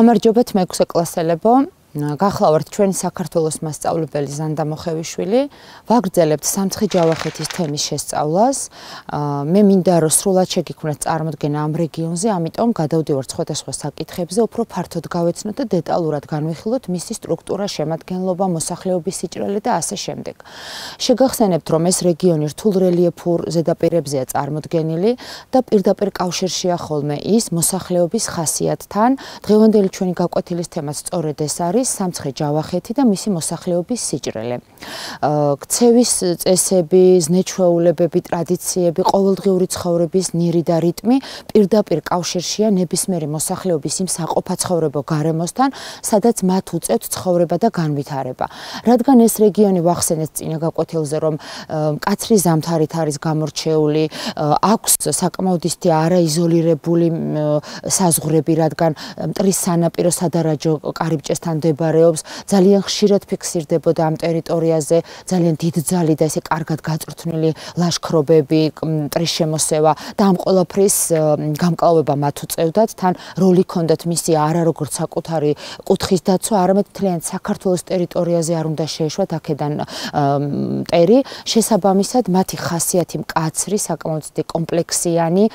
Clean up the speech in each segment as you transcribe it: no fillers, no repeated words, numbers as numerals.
გამარჯობათ მე-6 კლასელებო. გახლავართ ჩვენი საქართველოს მასწავლებელი ზანდა მოხევიშვილი. ვაგრძელებთ სამცხე ჯავახეთის თემის შესწავლას. მე მინდა რომ სრულად შეგიქმნათ წარმოდგენა ამ რეგიონზე, ამიტომ გადავდივართ სხვადასხვა საკითხებზე, უფრო ფართოდ გავეცნოთ და დეტალურად განვიხილოთ მისი სტრუქტურა, შემადგენლობა, მოსახლეობის სიჭრელე და ასე შემდეგ. შეგახსენებთ, რომ ეს რეგიონი რთულ რელიეფურ ზედაპირებზეა წარმოდგენილი და პირდაპირ კავშირშია ხოლმე ის მოსახლეობის ხასიათთან. დღევანდელი ჩვენი გაკვეთილის თემაც სწორედ ეს არის. სამცხე ჯავახეთი და მისი მოსახლეობის სიჭრელე. ქცევის წესები, ზნეჩვეულებები, ტრადიციები, ყოველდღიური ცხოვრების ნირი და რიტმი პირდაპირ კავშირშია ნებისმიერი მოსახლეობის იმ საყოფაცხოვრებო გარემოსთან, სადაც მათ უწევთ ცხოვრება და განვითარება. რადგან ეს რეგიონი ვახსენეთ წინა გაკვეთილზე, რომ მკაცრი ზამთარით არის გამორჩეული, აქვს საკმაოდ ისეთი არაიზოლირებული საზღვრები, რადგან მტრის სანაპირო სადარაჯო კარიბჭესთან მდებარეობს, ძალიან ხშირად ფიქსირდებოდა ამ ტერიტორიაზე ძალიან დიდძალი და ესე კარგად გაწვრთნილი ლაშქრობები, მტრის შემოსევა და ამ ყველაფრის გამკლავება მათ უწევდათ, თან როლი ჰქონდათ მისი არა როგორც საკუთარი კუთხის დაცვა, არამედ მთლიან საქართველოს ტერიტორიაზე არ უნდა შეეშვათ აქედან მტერი, შესაბამისად მათი ხასიათი მკაცრი, საკმაოდ კომპლექსიანი,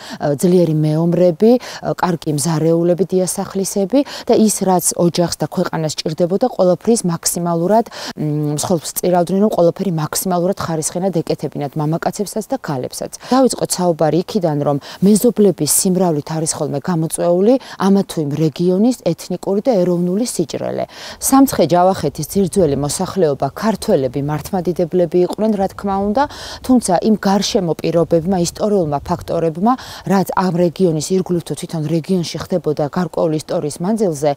ძლიერი მეომრები, კარგი მზარეულები, დიასახლისები და ის რაც ოჯახს და ქვეყანას ჭირდებოდა ყველაფრის მაქსიმალურად მსხვილს წირავდნენ, რომ ყველაფერი მაქსიმალურად ხარისხენად ეკეთებინათ მამაკაცებსაც და ქალებსაც. დავიწყოთ საუბარი იქიდან, რომ მეზობლების სიმრავლით არის ხოლმე გამოწვეული ამა თუ იმ რეგიონის ეთნიკური და ეროვნული სიჭრელე. სამცხე ჯავახეთის ძირძველი მოსახლეობა ქართველები, მართლმადიდებლები იყვნენ, რა თქმა უნდა, თუმცა იმ გარშემო პირობებმა, ისტორიულმა ფაქტორებმა, რაც ამ რეგიონის ირგვლივ თუ თვითონ რეგიონში ხდებოდა გარკვეული ისტორიის მანძილზე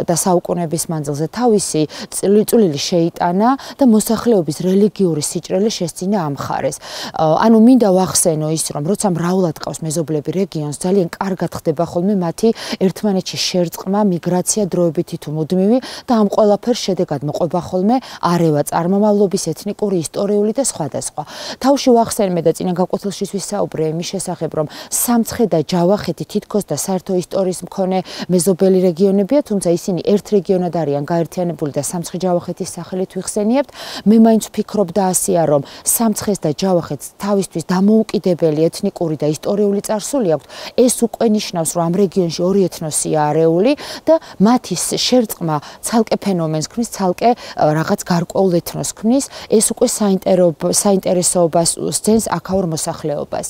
და საუკუნეების მანძილზე თავისი წვლილი შეიტანა და მოსახლეობის რელიგიური სიჭრელე შესწინა ამ მხარეს. ანუ მინდა ვახსენო ის, რომ როცა მრავლად ყავს მეზობლები რეგიონს, ძალიან კარგად ხდება ხოლმე მათი ერთმანეთში შერწყმა, მიგრაცია დროებითი თუ მუდმივი და ამ ყველაფერს შედეგად მოყვება ხოლმე არევა წარმომავლობის, ეთნიკური, ისტორიული და სხვადასხვა. თავში ვახსენე და წინა გაკვეთილში ვისაუბრე იმის შესახებ, რომ სამცხე და ჯავახეთი თითქოს და საერთო ისტორიის მქონე მეზობელი რეგიონებია, თუმცა ისინი ერთ რეგიონად არიან გაერთიანებული და სამცხე ჯავახეთის სახელით ვიხსენიებთ. მე მაინც ვფიქრობ და ასეა, რომ სამცხეს და ჯავახეთს თავისთვის დამოუკიდებელი ეთნიკური და ისტორიული წარსული აქვს. ეს უკვე ნიშნავს, რომ ამ რეგიონში ორი ეთნოსია არეული და მათი შერწყმა ცალკე ფენომენს ქმნის, ცალკე რაღაც გარკვეულ ეთნოს ქმნის. ეს უკვე საინტერესოობას სცენს აქაურ მოსახლეობას.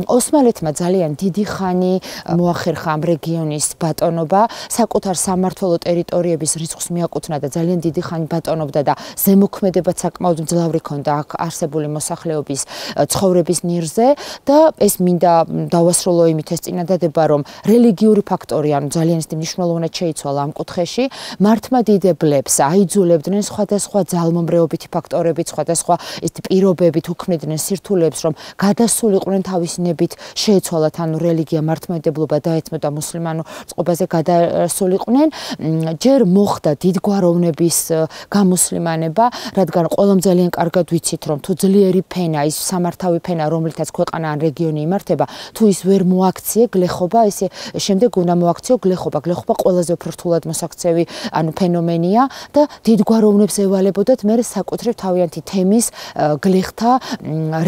ოსმალეთმა ძალიან დიდი ხანი მოახერხა ამ რეგიონის ბატონობა, საკუთარ სამმართველო ტერიტორიების რიცხვს მიაკუთვნა და ძალიან დიდი ხანი ბატოობდა და ზემოქმედებაც საკმაოდ მძლავრი ჰქონდა აქ არსებული მოსახლეობის ცხოვრების ნირზე და ეს მინდა დავასრულო იმით ეს წინადადება, რომ რელიგიური ფაქტორი, ანუ ძალიან ისეთი მნიშვნელოვნად შეიცვალა ამ კუთხეში, მართლმადიდებლებს აიძულებდნენ სხვადასხვა ძალმომრეობითი ფაქტორებით, სხვადასხვა ისეთი პირობებით უქმნიდნენ სირთულეებს, რომ გადასულიყვნენ თავისი ნებით შეეცვალათ, ანუ რელიგია, მართლმადიდებლობა დაეთმოდა მუსლიმანურ წყობაზე გადასულიყვნენ. ჯერ მოხდა დიდგვაროვნების გამუსლიმანება, რადგან ყველამ ძალიან კარგად ვიცით, რომ თუ ძლიერი ფენა, ის სამართავი ფენა, რომლითაც ქვეყანა ან რეგიონი იმართება, თუ ის ვერ მოაქციე გლეხობა, ესე შემდეგ უნდა მოაქციო გლეხობა. გლეხობა ყველაზე უფრო რთულად მოსაქცევი, ანუ ფენომენია და დიდგვაროვნებს ევალებოდათ მე საკუთრივ თავიანთი თემის გლეხთა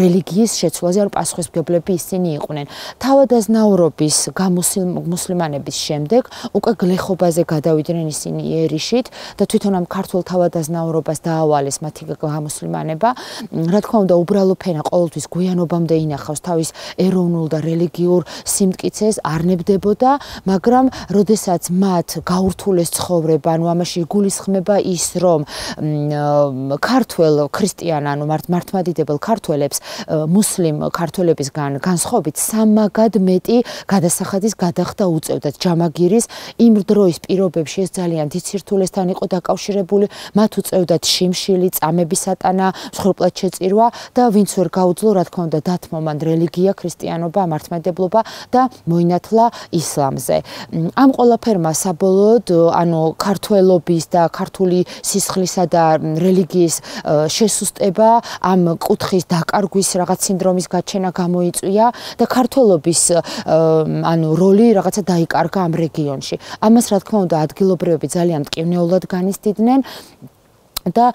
რელიგიის შეცვლაზე, ანუ პასუხისმგებლები ისინი იყვნენ. თავადაზნაურობის გამუსლიმანების შემდეგ უკვე გლეხობაზე გადავიდნენ ისინი იერიშით და თვითონ ამ ქართულ თავადაზნაურობას დაავალეს მათი გამუსლიმანება. რა თქმა უნდა, უბრალო ფენა ყოველთვის გვიანობამდე ინახავს თავის ეროვნულ და რელიგიურ სიმტკიცეს, არ ნებდებოდა, მაგრამ როდესაც მათ გაურთულეს ცხოვრება, ანუ ამაში იგულისხმება ის, რომ ქართველ ქრისტიან, ანუ მართლმადიდებელ ქართველებს მუსლიმ ქართველებისგან განსხვავებით სამაგად მეტი გადასახადის გადახდა უწევდათ ჯამაგირის იმ დროის პირობებში ეს ძალიან დიდ სირთულეს სირთულესთან იყო დაკავშირებული, მათ უწევდათ შიმშილი, წამების ატანა, მსხვერპლად შეწირვა და ვინც ვერ გაუძლო, რა თქმა უნდა, დათმო მან რელიგია, ქრისტიანობა, მართლმადიდებლობა და მოინათლა ისლამზე. ამ ყველაფერმა საბოლოოდ, ანუ ქართველობის და ქართული სისხლისა და რელიგიის შესუსტება, ამ კუთხის დაკარგვის რაღაც სინდრომის გაჩენა გამოიწვია და ქართველობის ანუ როლი რაღაცა დაიკარგა ამ რეგიონში. ამას რა თქმა უნდა ადგილობრივები ძალიან მტკივნეულად განიცდიდნენ და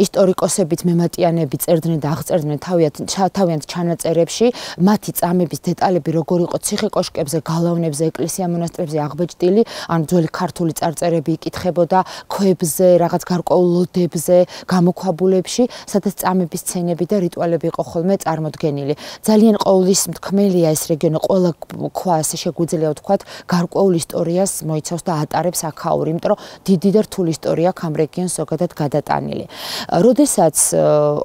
ისტორიკოსებიც მემატიანები წერდნენ და აღწერდნენ თავიანთ ჩანაწერებში მათი წამების დეტალები როგორ იყო ციხე-კოშკებზე, გალავნებზე, ეკლესია-მონასტრებზე აღბეჭდილი, ანუ ძველი ქართული წარწერები იკითხებოდა ქვებზე, რაღაც გარკვეულ ლოდებზე, გამოქვაბულებში, სადაც წამების სცენები და რიტუალები იყო ხოლმე წარმოდგენილი. ძალიან ყოვლისმთქმელია ეს რეგიონი, ყველა ქვა ასე შეგვიძლია ვთქვათ, გარკვეულ ისტორიას მოიცავს და ატარებს აქაური, იმიტომ რომ დიდი და რთული ისტორია აქვს ამ რეგიონს ზოგადად გადატანილი. როდესაც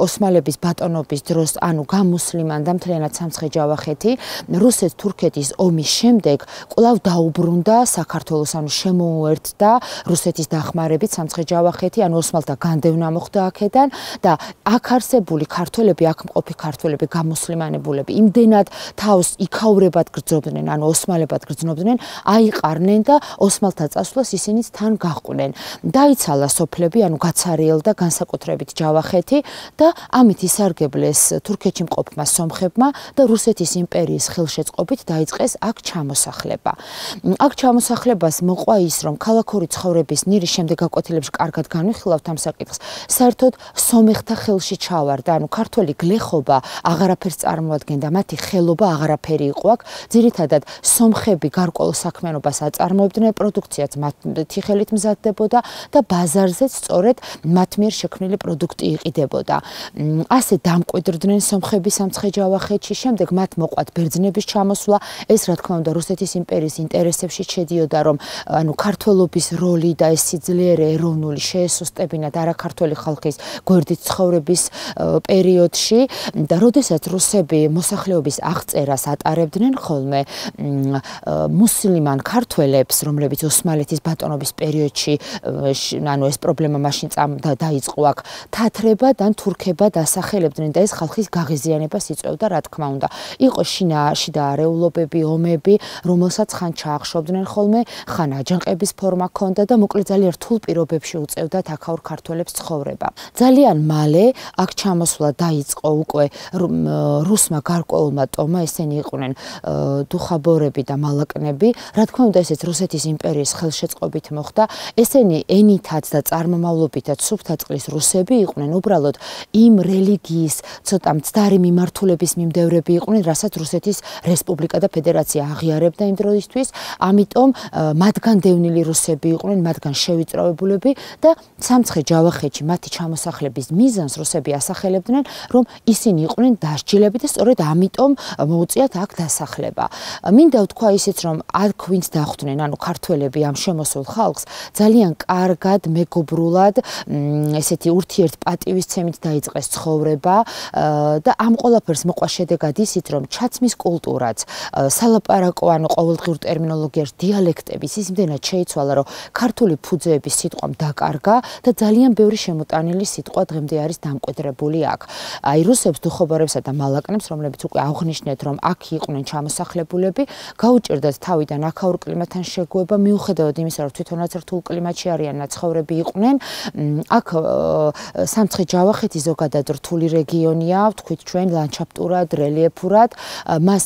ოსმალების ბატონობის დროს, ანუ გამუსლიმანდა მთლიანად სამცხე-ჯავახეთი, რუსეთ-თურქეთის ომის შემდეგ კვლავ დაუბრუნდა საქართველოს, ანუ შემოუერთდა რუსეთის დახმარებით სამცხე-ჯავახეთი, ანუ ოსმალთა განდევნა მოხდა აქედან და აქ არსებული ქართველები, აქ მყოფი ქართველები, გამუსლიმანებულები, იმდენად თავს იქაურებად გრძნობდნენ, ანუ ოსმალებად გრძნობდნენ, აიყარნენ და ოსმალთა წასვლას ისინიც თან გაჰყვნენ. დაიცალა სოფლები, ანუ გაცარიელდა განსაკუთრებით ჯავახეთი და ამით ისარგებლეს თურქეთში მყოფმა სომხებმა და რუსეთის იმპერიის ხელშეწყობით დაიწყეს აქ ჩამოსახლება. აქ ჩამოსახლებას მოყვა ის, რომ ქალაქური ცხოვრების ნირი შემდეგ გაკვეთილებში კარგად განვიხილავთ ამ საკითხს, საერთოდ სომეხთა ხელში ჩავარდა, ანუ ქართველი გლეხობა აღარაფერს წარმოადგენდა, მათი ხელობა აღარაფერი იყო აქ, ძირითადად სომხები გარკვეულ საქმიანობას აწარმოებდნენ, პროდუქციაც მათი ხელით მზადდებოდა და ბაზარზეც სწორედ მათ მიერ შექმნილი პროდუქტი იყიდებოდა. ასე დამკვიდრდნენ სომხები სამცხე-ჯავახეთში, შემდეგ მათ მოყვათ ბერძნების ჩამოსვლა, ეს რა თქმა უნდა რუსეთის იმპერიის ინტერესებში შედიოდა, რომ ანუ ქართველობის როლი და ეს სიძლიერე ეროვნული შეესუსტებინათ არაქართველი ხალხის გვერდით ცხოვრების პერიოდში და როდესაც რუსები მოსახლეობის აღწერას ატარებდნენ ხოლმე მუსლიმან ქართველებს, რომლებიც ოსმალეთის ბატონობის პერიოდში ანუ ეს პრობლემა მაშინ დაიწყო აქ თათრებად ან თურქებად ასახელებდნენ და ეს ხალხის გაღიზიანებას იწვევდა, რა თქმა უნდა. იყო შიდა არეულობები, ომები, რომელსაც ხან ჩაახშობდნენ ხოლმე, ხან აჯანყების ფორმა ჰქონდა და მოკლედ ძალიან რთულ პირობებში უწევდათ აქაურ ქართველებს ცხოვრება. ძალიან მალე აქ ჩამოსვლა დაიწყო უკვე რუსმა გარკვეულმა ტომმა, ესენი იყვნენ დუხაბორები და მალაკნები, რა თქმა უნდა ესეც რუსეთის იმპერიის ხელშეწყობით მოხდა. ესენი ენითაც და წარმომავლობითაც სუფთაწყლის რუსები იყვნენ, უბრალოდ იმ რელიგიის ცოტა მცდარი მიმართულების მიმდევრები იყვნენ, რასაც რუსეთის რესპუბლიკა და ფედერაცია აღიარებდა იმ დროისთვის, ამიტომ მათგან დევნილი რუსები იყვნენ, მათგან შევიწროებულები და სამცხე-ჯავახეთში მათი ჩამოსახლების მიზანს რუსები ასახელებდნენ, რომ ისინი იყვნენ დასჯილები და სწორედ ამიტომ მოუწიათ აქ დასახლება. მინდა ვთქვა ისიც, რომ აქ ვინც დახვდნენ, ანუ ქართველები ამ შემოსულ ხალხს ძალიან კარგად მეგობრულად ესეთი ურთიერთპატივისცემით დაიწყეს ცხოვრება და ამ ყველაფერს მოყვა შედეგად ისიც, რომ ჩაცმის კულტურაც, სალაპარაკო, ანუ ყოველდღიურ ტერმინოლოგიაში დიალექტების ის იმდენად შეიცვალა, რომ ქართული ფუძეების სიტყვამ დაკარგა და ძალიან ბევრი შემოტანილი სიტყვა დღემდე არის დამკვიდრებული აქ. აი რუსებს, დუხობორებსა და მალაკნებს, რომლებიც უკვე აღნიშნეთ, რომ აქ იყვნენ ჩამოსახლებულები, გაუჭირდათ თავიდან აქაურ კლიმატთან შეგუება, მიუხედავად იმისა, რომ თვითონაც რთულ კლიმატში არიან ნაცხოვრები იყვნენ. აქ სამცხე-ჯავახეთი ზოგადად რთული რეგიონია, ვთქვით ჩვენ ლანდშაფტურად, რელიეფურად, მას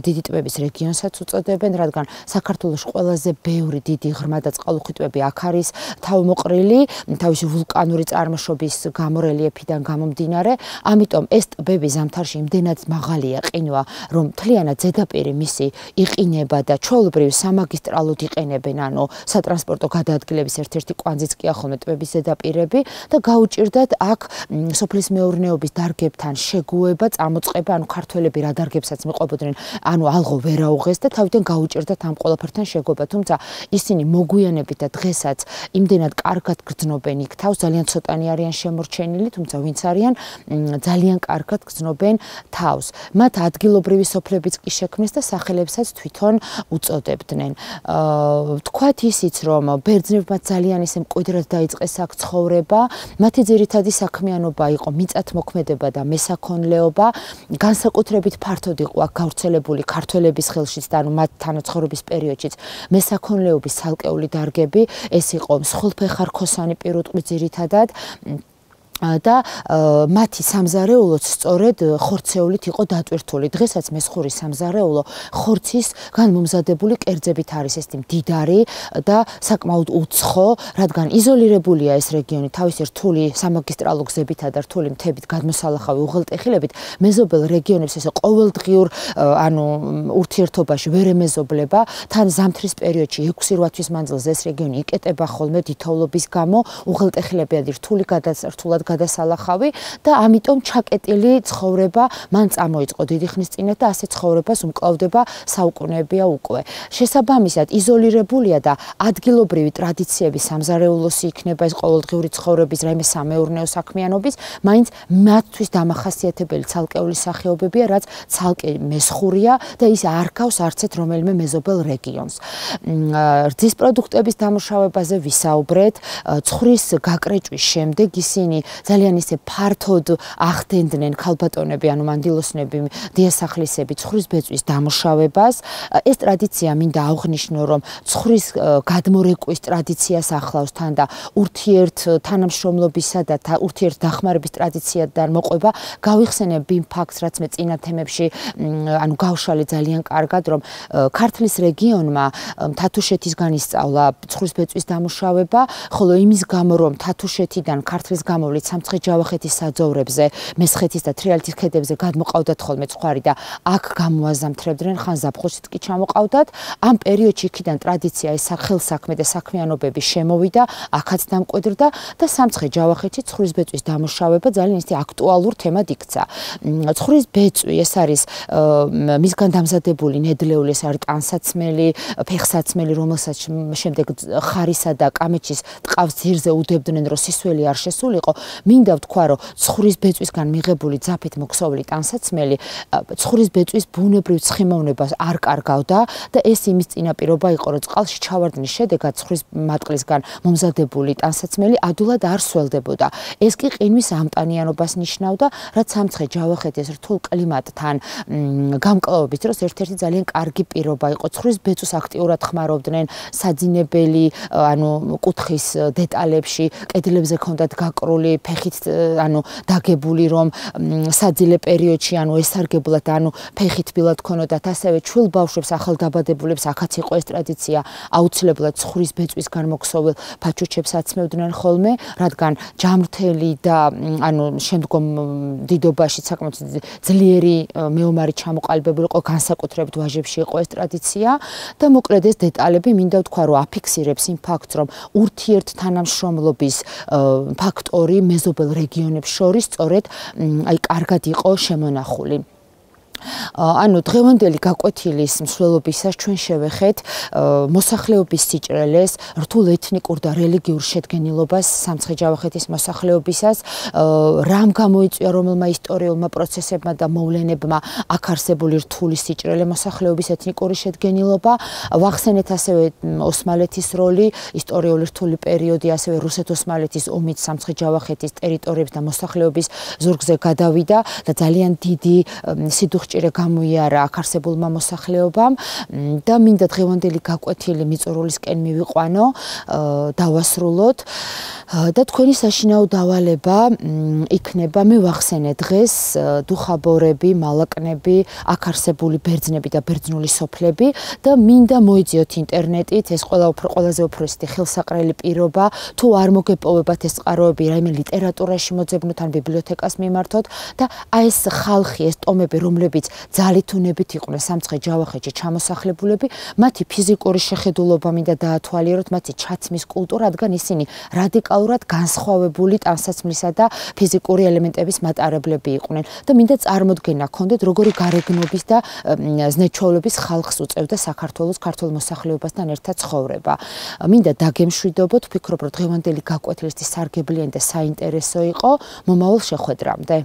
დიდი ტბების რეგიონსაც უწოდებენ, რადგან საქართველოს ყველაზე ბევრი დიდი ღრმა და წყალუხვი ტბები აქ არის თავმოყრილი, თავისი ვულკანური წარმოშობის გამო რელიეფიდან გამომდინარე, ამიტომ ეს ტბები ზამთარში იმდენად მაღალია ყინვა, რომ მთლიანად ზედაპირი მისი იყინება და ჩვეულებრივ სამაგისტრალოდ იყენებენ, ანუ სატრანსპორტო გადაადგილების ერთ-ერთი კვანძიც კი ახლა ტბების ზედა ზედაპირები და გაუჭირდათ აქ სოფლის მეურნეობის დარგებთან შეგუება, წამოწყება, ანუ ქართველები რა დარგებსაც მიყვებოდნენ, ანუ ალღო ვერ აუღეს და თავიდან გაუჭირდათ ამ ყველაფერთან შეგუება. თუმცა ისინი მოგვიანებით და დღესაც იმდენად კარგად გრძნობენ იქ თავს, ძალიან ცოტანი არიან შემორჩენილი, თუმცა ვინც არიან, ძალიან კარგად გრძნობენ თავს. მათ ადგილობრივი სოფლებიც კი შექმნეს და სახელებსაც თვითონ უწოდებდნენ. თქვათ ისიც, რომ ბერძნებმა ძალიან ისე მკვიდრად დაიწყეს აქ ცხოვრება, მათი ძირითადი საქმიანობა იყო მიწათმოქმედება და მესაქონლეობა, განსაკუთრებით ფართოდ იყო აქ გავრცელებული ქართველების ხელშიც და ანუ მათ თანაცხოვრების პერიოდშიც მესაქონლეობის ცალკეული დარგები, ეს იყო მსხვილფეხა-რქოსანი პირუტყვი ძირითადად და მათი სამზარეულოც სწორედ ხორცეულით იყო დატვირთული. დღესაც მესხური სამზარეულო ხორცისგან მომზადებული კერძებით არის ეს მდიდარი და საკმაოდ უცხო, რადგან იზოლირებულია ეს რეგიონი თავისი რთული სამაგისტრალო გზებითა და რთული მთებით გადმოსალახავი უღელტეხილებით, მეზობელ რეგიონებს ესე ყოველდღიურ ანუ ურთიერთობაში ვერ ემეზობლება. თან ზამთრის პერიოდში 6-8 თვის მანძილზე ეს რეგიონი იკეტება ხოლმე დიდთოვლობის გამო, უღელტეხილებიადი რთული გადასრთულად გადასალახავი და ამიტომ ჩაკეტილი ცხოვრება მან წამოიწყო დიდი ხნის წინათ და ასე ცხოვრებას უმკლავდება საუკუნეებია უკვე. შესაბამისად იზოლირებულია და ადგილობრივი ტრადიციების სამზარეულოსი იქნება ეს ყოველდღიური ცხოვრების რაიმე სამეურნეო საქმიანობის, მაინც მათთვის დამახასიათებელი ცალკეული სახეობებია, რაც ცალკე მესხურია და ის არ ქავს არცეთ რომელიმე მეზობელ რეგიონს. რძის პროდუქტების დამუშავებაზე ვისაუბრეთ, ცხრის გაკრეჭვის შემდეგ ისინი ძალიან ისე ფართოდ ახდენდნენ ქალბატონები, ანუ მანდილოსნები, დიასახლისები ცხრის ბეწვის დამუშავებას. ეს ტრადიცია მინდა აღვნიშნო, რომ ცხრის გადმორეკვის ტრადიციას ახლავს თან და ურთიერთ თანამშრომლობისა და ურთიერთ დახმარების ტრადიციიდან მოყვება. გავიხსენებ იმ ფაქტს, რაც მე წინა თემებში ანუ გავშალე ძალიან კარგად, რომ ქართლის რეგიონმა თათუშეთისგან ისწავლა ცხრის ბეწვის დამუშავება, ხოლო იმის გამო, რომ თათუშეთიდან ქართლის გამოვლით სამცხე-ჯავახეთის საძოვრებზე, მესხეთის და თრიალეთის ქედებზე გადმოყავდათ ხოლმე ცხვარი და აქ გამოაზამთრებდნენ, ხან ზაფხულშიც კი ჩამოყავდათ. ამ პერიოდში იქიდან ტრადიცია ეს ხელსაქმე და საქმიანობები შემოვიდა, აქაც დამკვიდრდა და სამცხე-ჯავახეთში ცხრის ბეწვის დამუშავება ძალიან ისე აქტუალურ თემად იქცა. ცხრის ბეწვი ეს არის მისგან დამზადებული ნედლეული, ეს არის ტანსაცმელი, ფეხსაცმელი, რომელსაც შემდეგ ხარისა და კამეჩის ტყავს ძირზე უდებდნენ, რომ სისველი არ შესულიყო. მინდა ვთქვა, რომ ცხრის ბეწვისგან მიღებული ძაფით მოქსოვილი ტანსაცმელი ცხრის ბეწვის ბუნებრივ ცხიმოვნებას არ კარგავდა და ეს იმის წინაპირობა იყო, რომ წყალში ჩავარდნის შედეგად ცხრის მატყლისგან მომზადებული ტანსაცმელი ადულად არ სველდებოდა. ეს კი ყინვის ამტანიანობას ნიშნავდა, რაც სამცხე-ჯავახეთის რთულ კლიმატთან გამკლავების დროს ერთ-ერთი ძალიან კარგი პირობა იყო. ცხრის ბეწვს აქტიურად ხმარობდნენ საძინებელი, ანუ კუთხის დეტალებში, კედლებზე ჰქონდათ გაკრული ფეხით, ანუ დაგებული, რომ საძილე პერიოდში, ანუ ესარგებლად, ანუ ფეხით ბილად ქონოდათ, ასევე ჩვილ ბავშვებს, ახალდაბადებულებს, აქაც იყო ეს ტრადიცია, აუცილებლად ცხრის ბეწვისგან მოქსოვილ ფაჩუჩებს აცმევდნენ ხოლმე, რადგან ჯამრთელი და ანუ შემდგომ დიდობაში საკმაოდ ძლიერი მეომარი ჩამოყალიბებული იყო, განსაკუთრებით ვაჟებში იყო ეს ტრადიცია და მოკლედ ეს დეტალები მინდა ვთქვა, რომ აფიქსირებს იმ ფაქტს, რომ ურთიერთ თანამშრომლობის ფაქტორი მეზობელ რეგიონებს შორის სწორედ აი კარგად იყო შემონახული. ანუ დღევანდელი გაკვეთილის მსვლელობისას ჩვენ შევეხეთ მოსახლეობის სიჭრელეს, რთულ ეთნიკურ და რელიგიურ შედგენილობას სამცხე-ჯავახეთის მოსახლეობისას, რამ გამოიწვია რომელმა ისტორიულმა პროცესებმა და მოვლენებმა აქ არსებული რთული სიჭრელე მოსახლეობის ეთნიკური შედგენილობა, ვახსენეთ ასევე ოსმალეთის როლი, ისტორიული რთული პერიოდი, ასევე რუსეთ-ოსმალეთის ომით სამცხე-ჯავახეთის ტერიტორიების და მოსახლეობის ზურგზე გადავიდა და ძალიან დიდი სიდუხჭირე გამოიარა აქ არსებულმა მოსახლეობამ და მინდა დღევანდელი გაკვეთილი მიწურულისკენ მივიყვანო, დავასრულოთ და თქვენი საშინაო დავალება იქნება, მე ვახსენე დღეს დუხაბორები, მალაკნები, აქ არსებული ბერძნები და ბერძნული სოფლები და მინდა მოიძიოთ ინტერნეტით, ეს ყველაზე უფრო ისეთი ხელსაყრელი პირობა, თუ არ მოგეპოვებათ ეს წყაროები რაიმე ლიტერატურაში მოძებნოთ ან ბიბლიოთეკას მიმართოთ და აი ეს ხალხი, ეს ტომები, რომლებიც ძალითუნებით იყვნენ სამცხე ჯავახეთში ჩამოსახლებულები, მათი ფიზიკური შეხედულობა მინდა დაათვალიეროთ, მათი ჩაცმის კულტურა, რადგან ისინი რადიკალურად განსხვავებული ტანსაცმლისა და ფიზიკური ელემენტების მატარებლები იყვნენ და მინდა წარმოდგენა ჰქონდეთ, როგორი გარეგნობის და ზნეჩვეულების ხალხს უწევდა საქართველოს ქართულ მოსახლეობასთან ერთად ცხოვრება. მინდა დაგემშვიდობოთ, ვფიქრობ, რომ დღევანდელი გაკვეთილისთვის სარგებლიანი და საინტერესო იყო. მომავალ შეხვედრამდე.